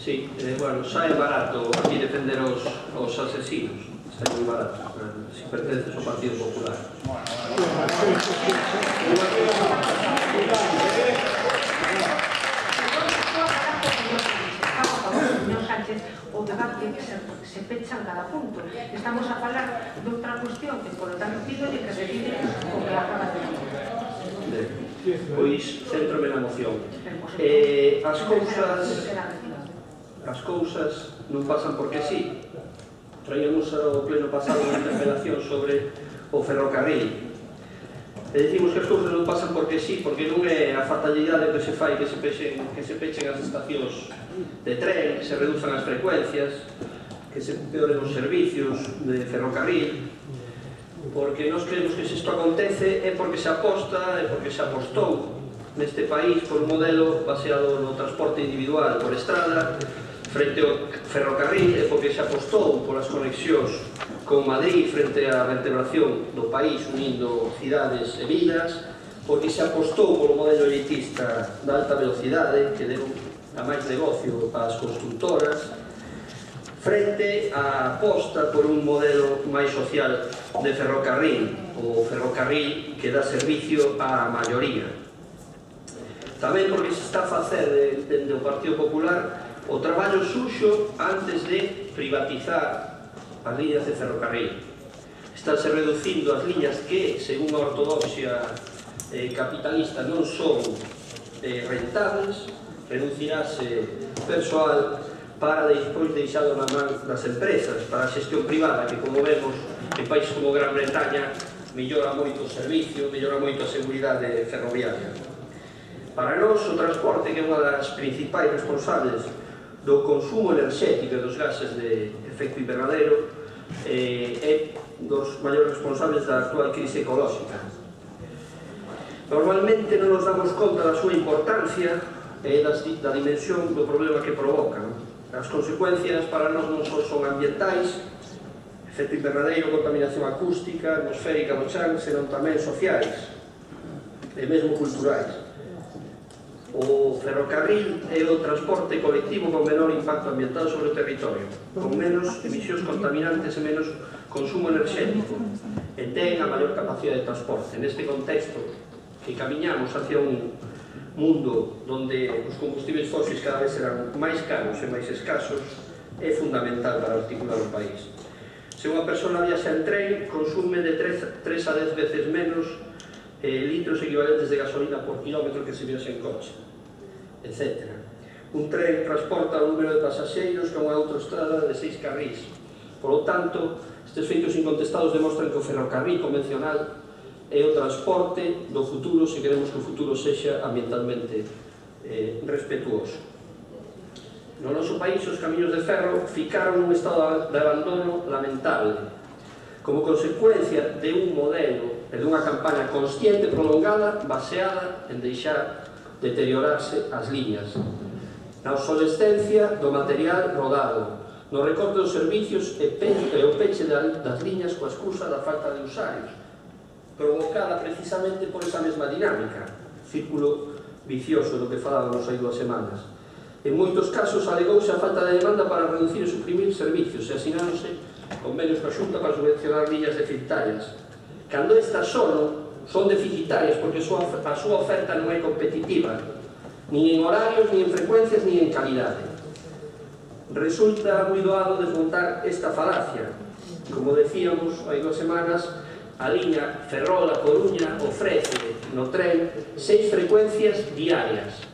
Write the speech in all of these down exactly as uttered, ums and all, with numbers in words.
Sí, eh, bueno, sae barato aquí defender os, os asesinos. Está moi barato, eh, si pertences ao Partido Popular. Señor Sánchez, o debate que se, se pecha en cada punto. Estamos a falar de outra cuestión que, polo tanto, pido que se decide o que acaba de decir. Pois, centrome na moción. Eh, as cousas... As cousas non pasan porque sí. Traíamos ao pleno pasado unha interpelación sobre o ferrocarril. E decimos que as cousas non pasan porque sí, porque non é a fatalidade que se fai que se pechen, que se pechen as estacións de tren, que se reduzan as frecuencias, que se peoren os servicios de ferrocarril, porque nós creemos que se isto acontece é porque se aposta, é porque se apostou neste país por un modelo baseado no transporte individual por estrada frente ao ferrocarril, é porque se apostou polas conexións con Madrid frente á vertebración do país unindo cidades e vilas, porque se apostou polo modelo elitista da alta velocidade que deu a máis negocio ás constructoras, frente á aposta por un modelo máis social de ferrocarril, o ferrocarril que dá servicio á maioría. Tamén porque se está a facer dende o Partido Popular o traballo suxo antes de privatizar as líneas de ferrocarril. Estánse reducindo as líneas que, según a ortodoxia eh, capitalista, non son eh, rentables, reducirase persoal para despois deixado na man das empresas, para a xestión privada, que, como vemos, en países como Gran Bretaña, mellora moito o servicio, mellora moito a seguridade ferroviaria. Para nós, o transporte, que é unha das principais responsables do consumo enerxético e dos gases de efecto invernadeiro, eh, é dos maiores responsables da actual crise ecolóxica. Normalmente non nos damos conta da súa importancia e da dimensión do problema que provoca. As consecuencias para nós non só son ambientais, efecto invernadeiro, contaminación acústica, atmosférica no chan, senón tamén sociais e mesmo culturais. O ferrocarril é o transporte colectivo con menor impacto ambiental sobre o territorio, con menos emisións contaminantes e menos consumo enerxético, e ten a maior capacidade de transporte. Neste contexto que camiñamos hacia un mundo onde os combustibles fósiles cada vez serán máis caros e máis escasos, é fundamental para articular o país. Se unha persona viaxa en tren, consume de tres a dez veces menos eh, litros equivalentes de gasolina por kilómetro que se viaxa en coche, etcétera. Un tren transporta o número de pasaxeiros que unha autoestrada de seis carrís. Por lo tanto, estes feitos incontestados demostran que o ferrocarril convencional é o transporte do futuro se queremos que o futuro sexa ambientalmente eh, respetuoso. No noso país, os camiños de ferro ficaron nun estado de abandono lamentable, como consecuencia de un modelo e dunha campaña consciente e prolongada baseada en deixar deteriorarse as liñas, na obsolescencia do material rodado, no recorte dos servicios e o peche das liñas coa excusa da falta de usarios, provocada precisamente por esa mesma dinámica, círculo vicioso do que falábamos hai dúas semanas. En moitos casos alegouse a falta de demanda para reducir e suprimir servicios e asináronse convenios coa Xunta para subvencionar liñas deficitarias, cando estas son son deficitarias porque a súa oferta non é competitiva, nin en horarios, nin en frecuencias, nin en calidade. Resulta moi doado desmontar esta falacia. Como decíamos hai dúas semanas, a liña Ferrol-A ofrece no tren seis frecuencias diarias,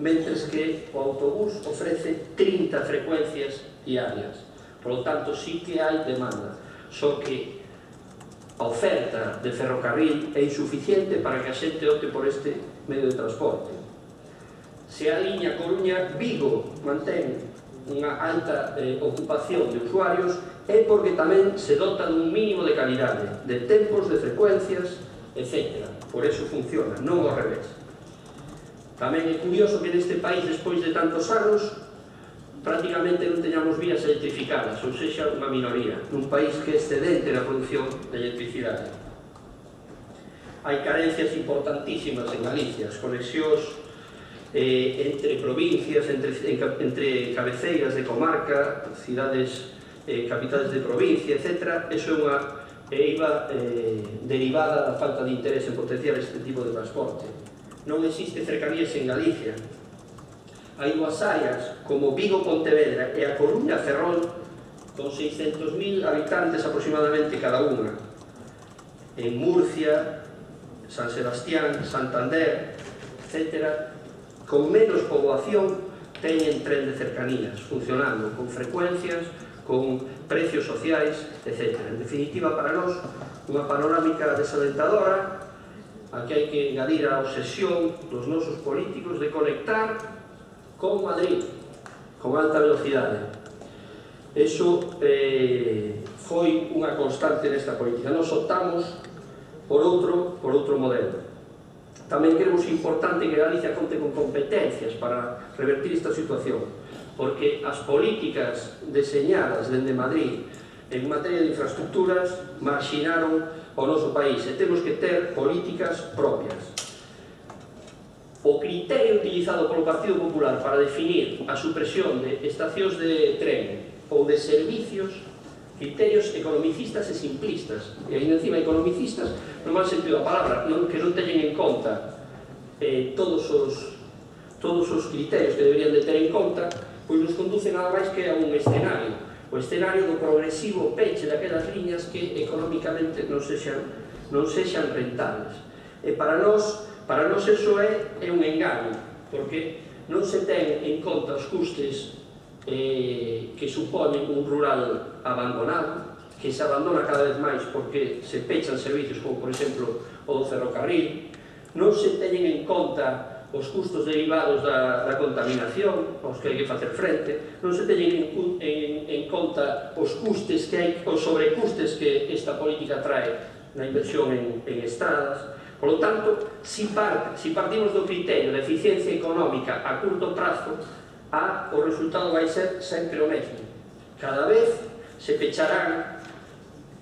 mentres que o autobús ofrece trinta frecuencias diarias. Por lo tanto, sí que hai demanda, só que a oferta de ferrocarril é insuficiente para que a xente opte por este medio de transporte. Se a liña Coruña-Vigo mantén unha alta eh, ocupación de usuarios, é porque tamén se dota dun mínimo de calidade, de tempos, de frecuencias, etcétera. Por eso funciona, non ao revés. Tamén é curioso que neste país, despois de tantos anos, prácticamente non teñamos vías electrificadas, ou sexa unha minoría, nun país que é excedente na produción de electricidade. Hai carencias importantísimas en Galicia, as conexións eh, entre provincias, entre, entre cabeceiras de comarca, cidades, eh, capitales de provincia, etcétera. Eso é unha eiva eh, derivada da falta de interés en potenciar este tipo de transporte. Non existe cercanías en Galicia. Hai dúas áreas, como Vigo, Pontevedra e a Coruña, Ferrol, con seiscentos mil habitantes aproximadamente cada unha. En Murcia, San Sebastián, Santander, etcétera, con menos poboación, teñen tren de cercanías funcionando con frecuencias, con precios sociais, etcétera. En definitiva, para nós, unha panorámica desalentadora a que hai que engadir a obsesión dos nosos políticos de conectar con Madrid, con alta velocidade. Eso eh, foi unha constante nesta política. Nos optamos por outro, por outro modelo. Tamén queremos importante que Galicia conte con competencias para revertir esta situación, porque as políticas deseñadas dende Madrid en materia de infraestructuras marxinaron o noso país e temos que ter políticas propias. O criterio utilizado polo Partido Popular para definir a supresión de estacións de tren ou de servicios, criterios economicistas e simplistas, e ainda encima economicistas no mal sentido da palabra, non, que non teñen en conta eh, todos, os, todos os criterios que deberían de ter en conta, pois nos conduce nada máis que a un escenario, o escenario do progresivo peche daquelas liñas que economicamente non sexan, non sexan rentables. E para nós, para nós eso é, é un engano, porque non se ten en conta os custes Eh, que supoñen un rural abandonado, que se abandona cada vez máis porque se pechan servicios como, por exemplo, o do ferrocarril. Non se teñen en conta os custos derivados da, da contaminación, aos que hai que facer frente. Non se teñen en, en, en conta os custes que hai, os sobrecustes que esta política trae na inversión en, en estradas. Por lo tanto, si, part, si partimos do criterio de eficiencia económica a curto prazo, A, o resultado vai ser sempre o mesmo. Cada vez se pecharán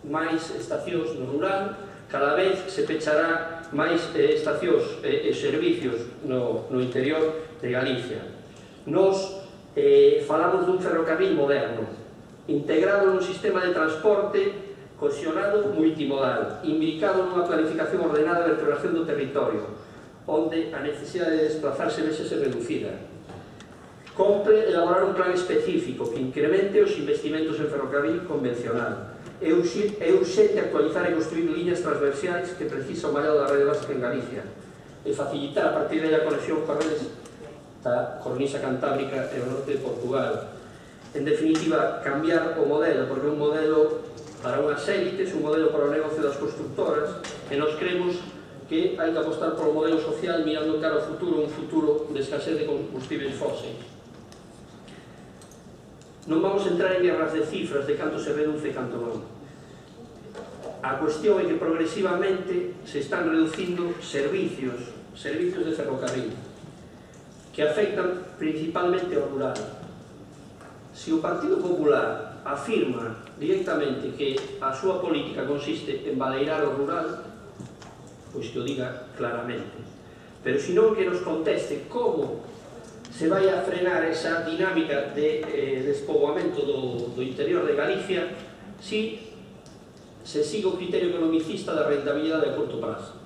máis estacións no rural, cada vez se pecharán máis eh, estacións e eh, servicios no, no interior de Galicia. Nos eh, falamos dun ferrocarril moderno, integrado nun sistema de transporte cohesionado multimodal, imbricado nunha planificación ordenada de vertebración do territorio, onde a necesidade de desplazarse vexese reducida. Compre elaborar un plan específico que incremente os investimentos en ferrocarril convencional. É urxente actualizar e construir liñas transversais que precisa o mallado da rede básica en Galicia e facilitar a partir de a conexión coa redes da cornisa cantábrica e o norte de Portugal. En definitiva, cambiar o modelo, porque é un modelo para unhas élites, un modelo para o negocio das constructoras, e nos creemos que hai que apostar polo modelo social mirando cara ao futuro, un futuro de escasez de combustibles fósiles. Non vamos entrar en guerras de cifras de canto se reduce e canto non. A cuestión é que progresivamente se están reducindo servicios, servicios de ferrocarril, que afectan principalmente ao rural. Se o Partido Popular afirma directamente que a súa política consiste en baleirar o rural, pois que o diga claramente. Pero se non, que nos conteste como se vai a frenar esa dinámica de eh, despoboamento do, do interior de Galicia si se sigue o criterio economicista da rentabilidade a curto prazo.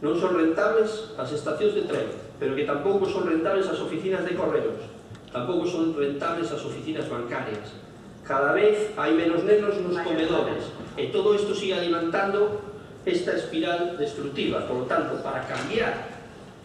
Non son rentables as estacións de tren, pero que tampouco son rentables as oficinas de correos, tampouco son rentables as oficinas bancarias. Cada vez hai menos nenos nos comedores e todo isto sigue alimentando esta espiral destructiva. Por lo tanto, para cambiar,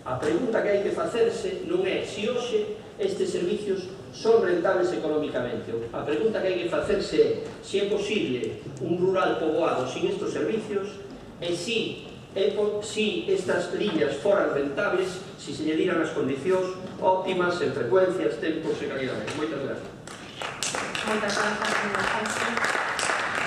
a pregunta que hai que facerse non é se hoxe estes servicios son rentables económicamente. A pregunta que hai que facerse é se é posible un rural poboado sin estes servicios e se é si estas liñas foran rentables se se lle diran as condicións óptimas en frecuencias, tempos e calidade. Moitas gracias. Moitas gracias, señor Sánchez.